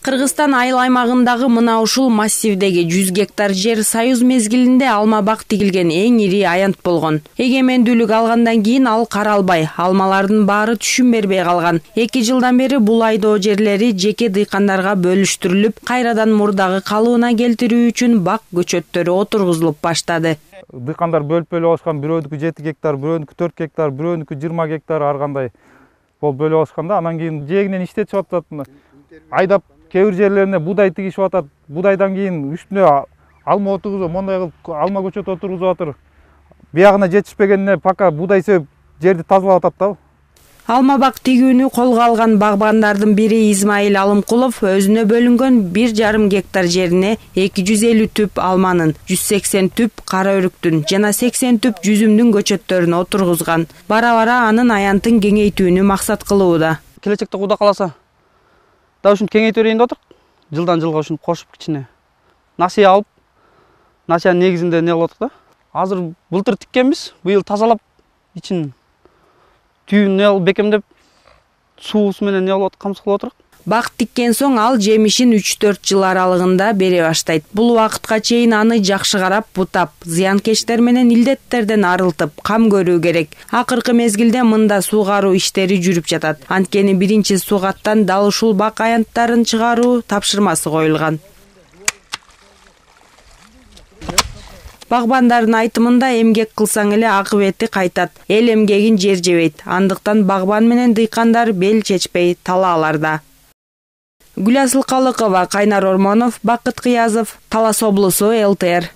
Кыргызстан айыл аймагындагы мына ушул массивдеги 100 гектар жер союз мезгилинде алма бак тигилген эң ири аянт болгон. Эгемендүүлүк алгандан кийин ал каралбай, алмалардын баары түшүм бербей калган. 2 жылдан бери бул айдоо жерлери жеке дыйкандарга бөлүштүрүлүп, кайрадан мурдагы калыбына келтирүү үчүн бак көчөттөрү отургузулуп баштады. Дыйкандар бөлүп алышкан, бирөөнүкү 7 гектар, бирөөнүкү 4 гектар, бирөөнүкү 20 гектар ар кандай болуп бөлүп алышканда, анан кийин жээгинен иштетип атат. Айдап кээ бир жерлерине будай тигишип атат. Будайдан кийин үстүнө алма отургузуп, мондай кылып алма көчөт отургузуп атыр. Биягына жетишпегенине пока будай себеп жерди тазалап атат да. Алма бак тигүүнү колго алган багбандардын бири Измаил Алымкулов өзүнө бөлүнгөн 1,5 гектар жерине 250 түп алманын, 180 түп кара өрүктүн жана 80 түп жүзүмдүн көчөттөрүн отургузган. Бара-бара анын аянтын кеңейтүүнү максат кылууда. Келечекте Кудай кааласа да ушинтип кеңейте берейин деп атырк. Жылдан жылга ушинтип кошуп кичине насыя алып, насыянын негизинде не кылып атык да. Азыр былтыр тиккенбиз, быйыл тазалап, ичин түйүн не кылып бекемдеп, суусу менен не кылып камсыз кылып атырк. Бак тиккен соң ал жемишин 3-4 жыл аралыгында бере баштайт. Бул убакытка чейин аны жакшы карап, бутап, зыянкечтер менен илдеттерден арылтып, кам көрүү керек. Акыркы мезгилде мында суугаруу иштери жүрүп жатат. Анткени биринчи сугаттан дал ушул бак аянттарын чыгаруу тапшырмасы коюлган. Багбандардын айтымында эмгек кылсаң эле акыбети кайтат. Эл эмгегин жер жебейт. Андыктан багбан менен дыйкандар бел чечпей талааларда. Гүласыл Калыкова, Кайнар Ормонов, Бакыт Кыязов, Талас облусу, ЛТР.